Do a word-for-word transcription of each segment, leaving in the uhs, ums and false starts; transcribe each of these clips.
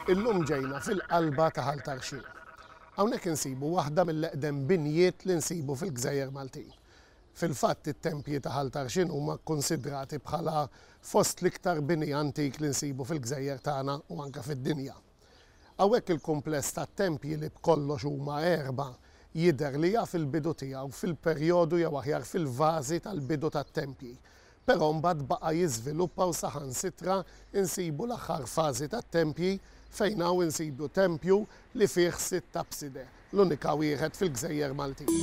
Illum ġejna fil-qalba ta' Ħal Tarxien. Hawnhekk insibu waħda mill-eqdem binjiet li nsibu fil-Gżejjer Maltin. Fil-fatt it-tempji ta' Ħal Tarxien huma kkonsidrati bħala fost l-iktar bini antik li nsibu fil-gżejjer tagħna u anke fid-dinja. Hawnhekk il-kumpless tat-tempji li b'kollox huma erba' jidher li jaf il-bidu tiegħu fil-perjodu jew aħjar fil-fażi tal-bidu tat-tempji. Però mbagħad baqa' jiżviluppa u saħansitra insibu l-aħħar fażi tat-tempji fejn hawn insibu tempju li fih sitt apside, l-unika wieħed fil-Gżejjer Maltin.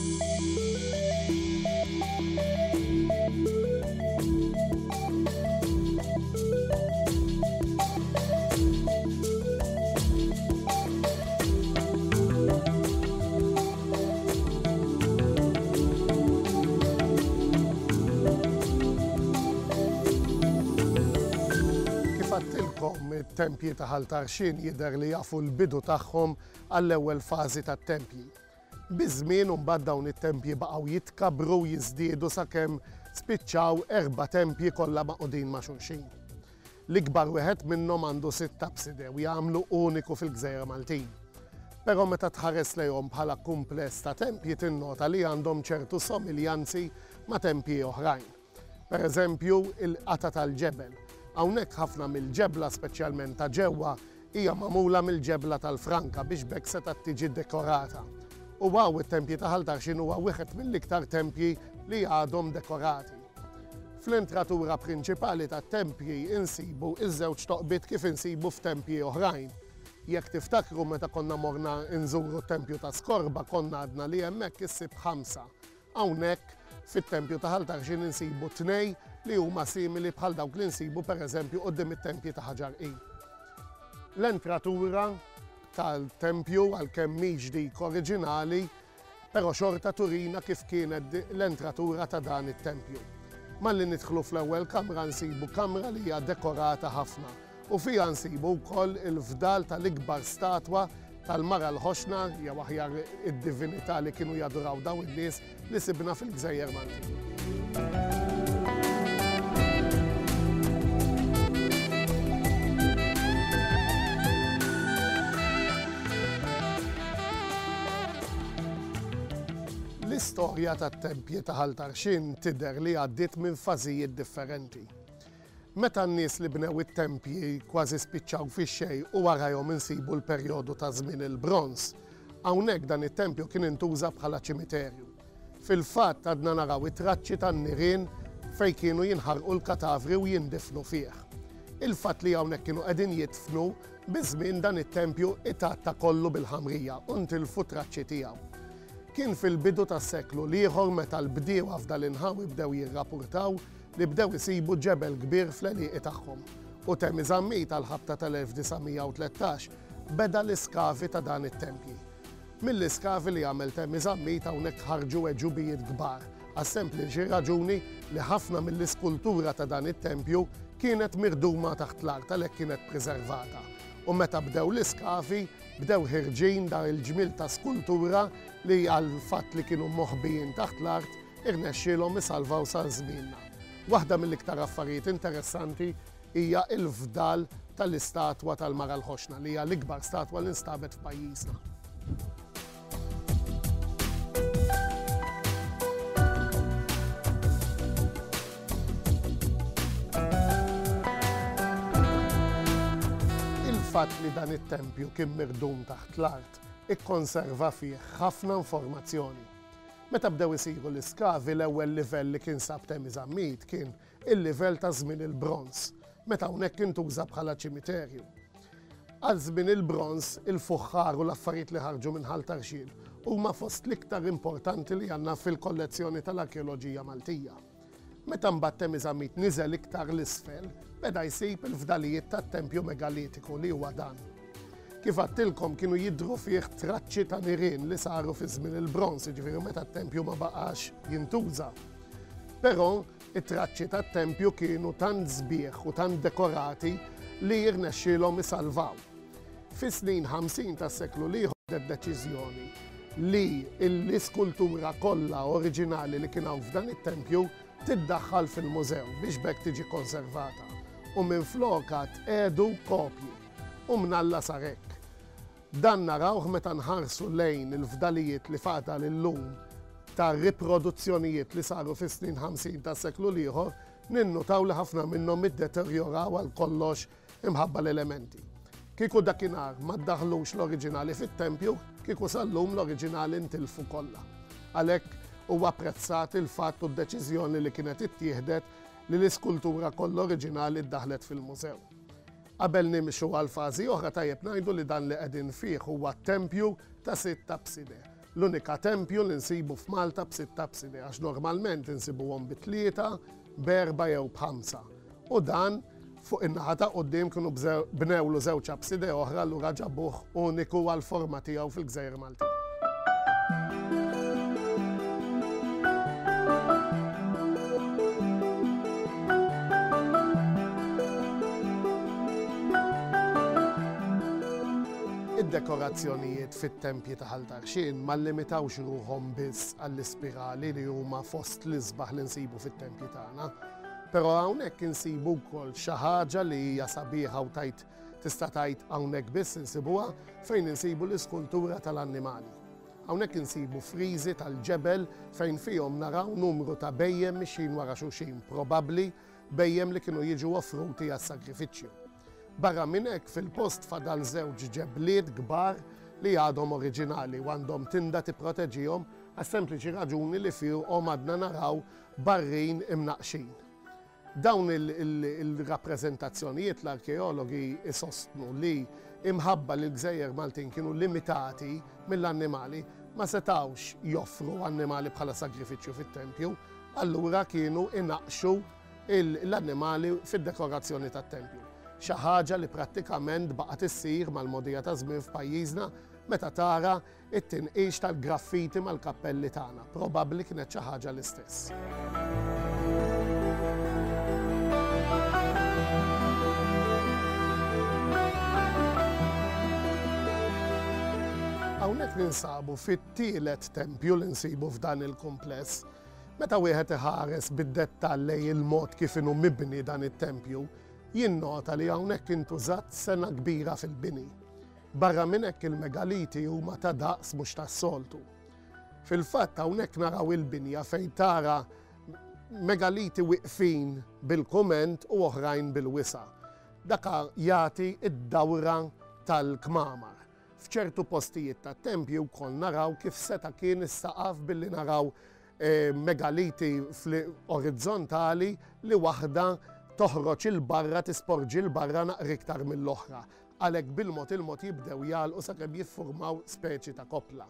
It-tempji ta' Ħal Tarxien jidher li jafu l-bidu tagħhom għall-ewwel fażi tat-tempji. Biż-żmien imbagħad dawn it-tempji baqgħu jitkabbru u jiżdiedu sakemm spiċċaw erba' tempji kollha maqudin ma' xulxin. L-ikbar wieħed minnhom għandu sitt apside u jagħmlu uniku fil-Gżejjer Maltin. Però meta tħares lejhom bħala kumpless ta' tempji tinnota li għandhom ċertu somiljanzi ma' tempji oħrajn. Per eżempju, il-qata tal-ġebel. Hawnhekk ħafna mill-ġebla, speċjalment ta' ġewwa, hija magħmula mill-ġebla tal-franka biex b'hekk setgħet tiġi dekorata. U hawn it-tempji ta' Ħal Tarxien huwa wieħed mill-iktar tempji li għadhom dekorati. Fl-entratura prinċipali tat-tempji insibu iż-żewġ toqbiet kif insibu f'tempji oħrajn. Jekk tiftakru meta konna morna nżuru t-tempju ta' Skorba konna għadna li hemmhekk issib ħamsa. Hawnhekk fit-tempju ta' Ħal Tarxien insibu tnej li huma simili bħal dawk li nsibu pereżempju quddiem it-tempji ta' Ħaġar Qim. L-entratura tal-tempju għalkemm mhix dik oriġinali, però xorta turina kif kienet l-entratura ta' dan it-tempju. Malli nidħlu fl-ewwel kamra nsibu kamra li hija dekorata ħafna u fiha nsibu wkoll il-fdal tal-ikbar statwa tal-mara l-ħoxna, jew aħjar id-divinità li kienu jaduraw dawn in-nies li sibna fil-Gżejjer Maltin. L-istorja tat-tempji ta' Ħal Tarxien tidher li għaddiet minn fażijiet differenti. Meta n-nies li bnew it-tempji kważi spiċċaw fix-xejn u warajhom insibu l-perjodu ta' żmien il-bronż, hawnhekk dan it-tempju kien intuża bħala ċimiterju. Fil-fatt għadna naraw it-traċċi tan-nirien fejn kienu jinħarqu l-katavri u jindifnu fih. Il-fatt li hawnhekk kienu qegħdin jidfnu, biż-żmien dan it-tempju itatta kollu bil-ħamrija u ntilfu traċċi tiegħu. Kien fil-bidu tas-seklu l-ieħor meta l-bdiewa f'dal-inħawi bdew jirrapportaw li bdew isibu ġebel kbir fl-għelieqi tagħhom. U Temi Zammit għall-ħabta tal-elf disa' mija u tlettax beda l-iskavi ta' dan it-tempji. Mill-iskavi li għamel Temi Zammit hawnhekk ħarġu għeġubijiet kbar, għas-sempliċi raġuni li ħafna mill-iskultura ta' dan it-tempju kienet mirduma taħt l-art għalhekk kienet preservata. U meta bdew l-iskavi, bdew ħirġin dar il-ġmiel ta' skultura li għal fatt li kienu moħbijin taħt l-art irnexxielhom isalvaw sa żmienna. Waħda mill-iktar affarijiet interessanti hija l-fdal tal-istatwa tal-Mara l-Ħoxna li hija l-ikbar statwa li nstabet f'pajjiżna. Il-fatt li dan it-tempju kien mirdum taħt l-art ikkonserva fih ħafna informazzjoni. Meta bdew isiru l-iskavi, l-ewwel livell li kien sab Temi Zammit kien il-livell ta' żmien il-bronż, meta hawnhekk intuża bħala ċimiterju. Għal żmien il-bronż, il-fuħħar u l-affarijiet li ħarġu minn Ħal Tarxien huma fost l-iktar importanti li għandna fil-kollezzjoni tal-arkeoloġija Maltija. Meta mbagħad Temi Zammit niżel iktar l-isfel, beda jsib il-fdalijiet tat-tempju megalitiku li huwa dan. Kif għattilkom kienu jidhru fih traċċi ta' nirien li saru fi żmien il-bronż, jiġifieri meta t-tempju ma baqax jintuża. Però it-traċċi tat-tempju kienu tant sbieħ u tant dekorati li jirnexxielhom isalvaw. Fis-snin ħamsin tas-seklu l-ieħor ħadet deċiżjoni li l-iskultura kollha oriġinali li kien hawn f'dan it-tempju tiddaħħal fil-mużew biex b'hekk tiġi konservata u minflokha tqiegħdu kopji. U mnalla sar hekk. Dan narawh meta nħarsu lejn il-fdalijiet li fadal illum ta' riproduzzjonijiet li saru fis-snin ħamsin tas-seklu l-ieħor, ninnutaw li ħafna minnhom iddeterjoraw għal kollox imħabba l-elementi. Kieku dakinhar ma ddaħlux l-oriġinali fit-tempju, kieku sal-lum l-oriġinali ntilfu kollha. Għalhekk huwa apprezzat il-fatt u d-deċiżjoni li kienet ittieħdet li l-iskultura kollha oriġinali ddaħlet fil-mużew. Qabel nimxu għal fażi oħra tajjeb ngħidu li dan li qegħdin fih huwa tempju ta' sitt abside. L-unika tempju li nsibu f'Malta b'sitt abside, għax normalment insibuhom bi tlieta, b'erba' jew b'ħamsa. U dan fuq in-naħa ta' quddiem kienu bnewlu żewġ abside oħra allura ġabuh uniku għall-forma tiegħu fil-Gżejjer Maltin. Id-dekorazzjonijiet fit-tempji ta' Ħal Tarxien ma limitawx ruħhom biss għall-ispirali li huma fost l-isbaħ li nsibu fit-tempji tagħna. Però hawnhekk insibu wkoll xi ħaġa li hija sabiħa u tajt tista' tgħid hawnhekk biss insibuha fejn insibu l-iskultura tal-annimali. Hawnhekk insibu friżi tal-ġebel fejn fihom naraw numru ta' bejjem mixjin wara xulxin, probabbli bejjem li kienu jiġu offruti għas-sagrifiċċju. Barra minn hekk fil-post fadal żewġ ġebliet kbar li għadhom oriġinali u għandhom tinda tipproteġihom għas-sempliċi raġuni li fihom għadna naraw barrin imnaqxin. Dawn il-rappreżentazzjonijiet l-arkeologi isostnu li imħabba li l-Gżejjer Maltin kienu limitati mill-annimali ma setawx joffru annimali bħala sagrifiċċju fit-tempju, allura kienu inaqxu l-annimali fid-dekorazzjoni tat-tempju. Xi ħaġa li prattikament baqgħet issir mal-mogħdija ta' żmien f'pajjiżna meta tara it-tinqix tal-graffiti mal-kappelli tagħna. Probabbli kienet xi ħaġa l-istess. Hawnhekk ninsabu fit-tielet tempju li nsibu f'dan il-kumpless. Meta wieħed iħares bid-dettall lejn il-mod kif inhu mibni dan it-tempju, jinnota li hawnhekk intużat sena kbira fil-bini. Barra minn hekk il-megaliti huma ta' daqs mhux tas-soltu. Fil-fatt hawnhekk naraw il-binja fejn tara megaliti wiqfin bil-kument u oħrajn bil-wisa'. Daka jagħti id-dawra tal-kmamar. F'ċertu postijiet tat-tempju wkoll naraw kif seta' kien is-saqaf billi naraw megaliti orizzontali li waħda toħroġ il-barra, tisporġi l-barra naqra iktar mill-oħra. Għalhekk bil-mod il-mod jibdew jagħlqu sakemm jiffurmaw speċi ta' koppla.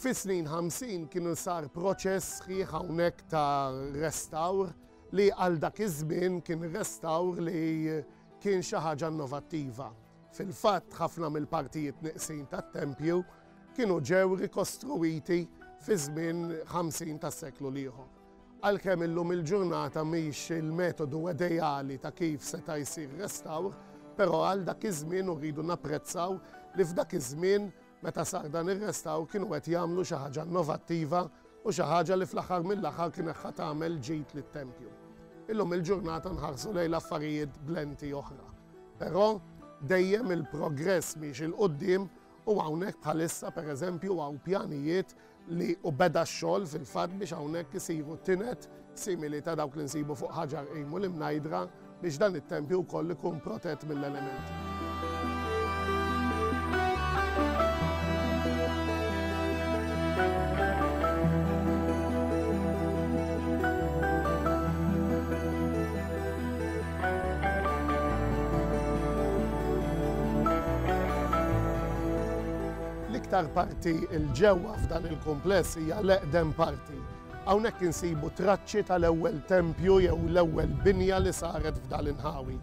Fis-snin ħamsin kienu sar proċess sħiħ hawnhekk ta' restawr li għal dak iż-żmien kien restawr li kien xi ħaġa innovattiva. Fil-fatt ħafna mill-partijiet neqsin tat-tempju kienu ġew rikostruwiti fi żmien ħamsin tas-seklu l-ieħor. Għalkemm illum il-ġurnata mhix il-metodu ideali ta' kif seta' jsir restawr, però għal dak iż-żmien rridu napprezzaw li f'dak iż-żmien meta sar dan ir-restawr kienu qed jagħmlu xi ħaġa innovattiva u xi ħaġa li fl-aħħar mill-aħħar kienet ħa tagħmel ġid lit-tempju. Illum il-ġurnata nħarsu lejn l-affarijiet b'lenti oħra. Però dejjem il-progress mhix il-qudiem u hawnhekk bħalissa pereżempju hawn pjanijiet li u beda x-xogħol fil-fatt biex hawnhekk isiru tinet simili ta' dawk li nsibu fuq Ħaġar Qim u l-Imnajdra biex dan it-tempju wkoll ikun protett mill-elementi. L-iktar parti il-ġewwa f'dan il-kumpless hija l-eqdem parti. Hawnhekk insibu traċċi tal-ewwel tempju jew l-ewwel binja li saret f'dan l-inħawi.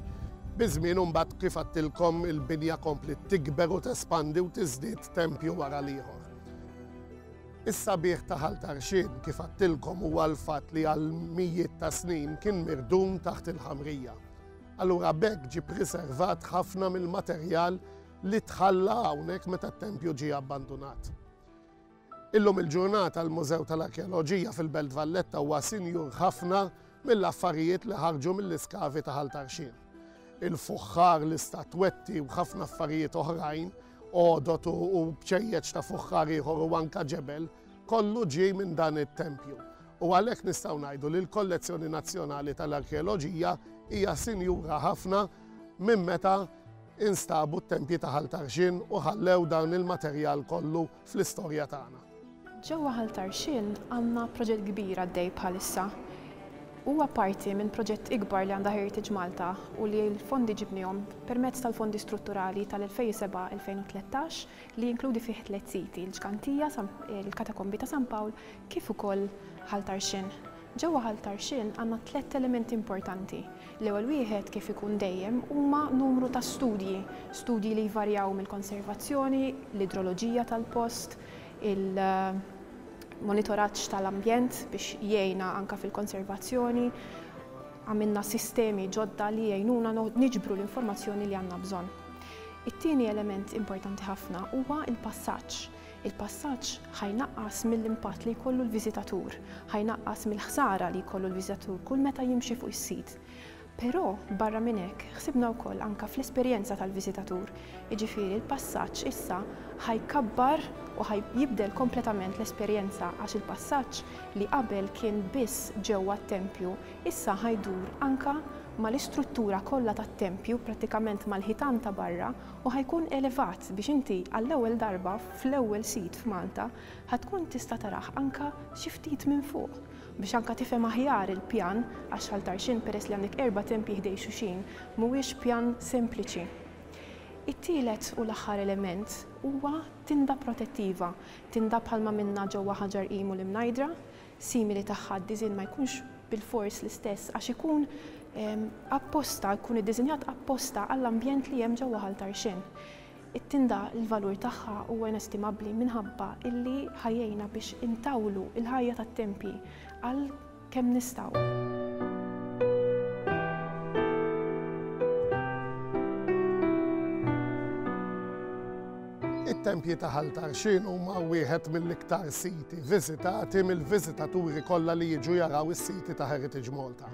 Biż-żmien imbagħad kif għadtilkom il-binja kompliet tikber u tespandi u tiżdied tempju wara l-ieħor. Is-sabiħ ta' Ħal Tarxien kif għadtilkom huwa l-fatt li għal mijiet ta' snin kien mirdum taħt il-ħamrija. Allura b'hekk ġie preservat ħafna mill-materjal li tħalla hawnhekk meta t-tempju ġie abbandunat. Illum il-ġurnata l-Mużew tal-Arkeoloġija fil-Belt Valletta huwa sinjur ħafna mill-affarijiet li ħarġu mill-iskavi ta' Ħal Tarxien. il-fuħħar, l-istatwetti u ħafna affarijiet oħrajn, għodot u bċejjeċ ta' fuħħar ieħor u anka ġebel, kollu ġie minn dan it-tempju. U għalhekk nistgħu ngħidu li l-Kollezzjoni Nazzjonali tal-Arkeoloġija hija sinjura ħafna minn meta instabu t-tempji ta' Ħal Tarxien u ħallew dan il-materjal kollu fl-istorja tagħna. Ġewwa Ħal Tarxien għandna proġett kbir għaddej bħalissa. Huwa parti minn proġett ikbar li għandha Heritage Malta u li l-fondi ġibnihom permezz tal-fondi strutturali tal-elfejn u sebgħa elfejn u tlettax li jinkludi fih tliet siti, il-Ġgantija, il-Katakombi ta' San Pawl, kif ukoll Ħal Tarxien. Ġewwa Ħal Tarxien għandna tliet elementi importanti. L-ewwel wieħed, kif ikun dejjem, huma numru ta' studji, studji li jvarjaw mill-konservazzjoni, l-idroloġija tal-post, il-monitoraġġ tal-ambjent biex jgħinna anka fil-konservazzjoni. Għamilna sistemi ġodda li jgħinuna niġbru l-informazzjoni li għandna bżonn. It-tieni element importanti ħafna huwa il-passaġġ. Il-passaġġ ħajnaqqas mill-impatt li jkollu l-viżitatur, ħajnaqqas mill-ħsara li jkollu l-viżitatur kull meta jimxi fuq is-sit. Però barra minn hekk ħsibna wkoll anka fl-esperjenza tal-viżitatur. Jiġifieri l-passaġġ issa ħajkabbar u ħajjibdel kompletament l-esperjenza għax il-passaġġ li qabel kien biss ġewwa t-tempju issa ħajdur anka mal-istruttura kollha tat-tempju, prattikament mal-ħitan ta' barra, u ħajkun elevat biex inti għall-ewwel darba fl-ewwel sit f'Malta ħatkun tista' tarah anka xi ftit minn fuq biex anka tifhem aħjar il-pjan, għax Ħal Tarxien peress li għandek erba' tempji ħdej xulxin mhuwiex pjan sempliċi. It-tielet u l-aħħar element huwa tinda protettiva, tinda bħalma minna ġewwa Ħaġar Qim u l-Imnajdra, simili tagħha d-diżinn ma jkunx bil-fors l-istess għax ikun apposta, jkun iddiżinjat apposta għall-ambjent li hemm ġewwa Ħal Tarxien. It-tinda l-valur tagħha huwa inestimabbli minħabba illi ħajjejna biex intawlu il-ħajja tat-tempji għal kemm nistgħu. It-tempji ta' Ħal Tarxien huma wieħed mill-iktar siti viżitati mill-viżitaturi kollha li jiġu jaraw is-siti ta' Heritage Malta.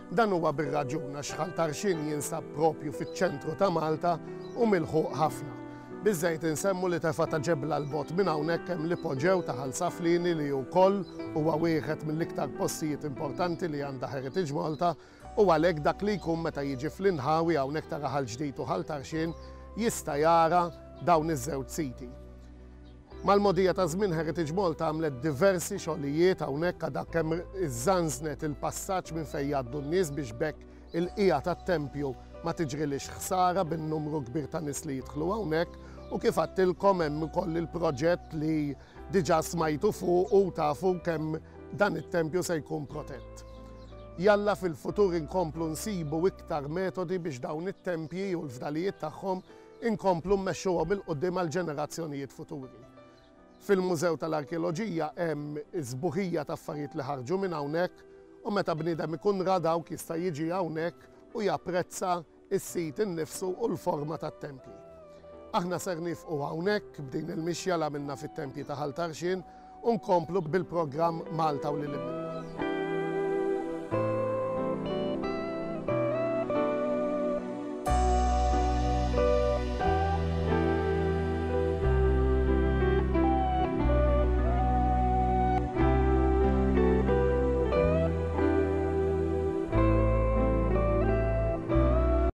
Dan huwa bir-raġun għax Ħal Tarxien jinsab propju fiċ-ċentru ta' Malta u milħuq ħafna. Biżżejjed insemmu li tefa' ta' ġebla l-bot minn hawnhekk hemm l-ipoġew ta' Ħal Saflieni li wkoll huwa wieħed mill-iktar postijiet importanti li għandha Heritage Malta, u għalhekk dak li jkun meta jiġi fl-inħawi hawnhekk ta' Raħal Ġdid u Ħal Tarxien jista' jara dawn iż-żewġ siti. Mal-mogħdija ta' żmien Heritage Malta għamlet diversi xogħlijiet hawnhekk għadha kemm iżżanżnet il-passaġġ minn fejn jgħaddu n-nies biex bekk il-qija tat-tempju ma tiġrilix ħsara bin-numru kbir ta' nies li jidħlu hawnhekk, u kif għadtilkom hemm ukoll il-proġett li diġà smajtu fuq u tafu kemm dan it-tempju se jkun protett. Jalla fil-futur inkomplu nsibu iktar metodi biex dawn it-tempji u l-fdalijiet tagħhom inkomplu mmexxuhom il quddiem għal ġenerazzjonijiet futuri. Fil-Mużew tal-Arkeoloġija hemm iż-żbuħija ta' affarijiet li ħarġu minn hawnhekk, u meta bniedem ikun ra dawk jista' jiġi hawnhekk u japprezza s-sit innifsu u l-forma tat-tempji. Aħna ser nifqu hawnhekk b'din il-mixja li għamilna fit-tempji ta' Ħal Tarxien u nkomplu bil-programm Malta u lil hinn.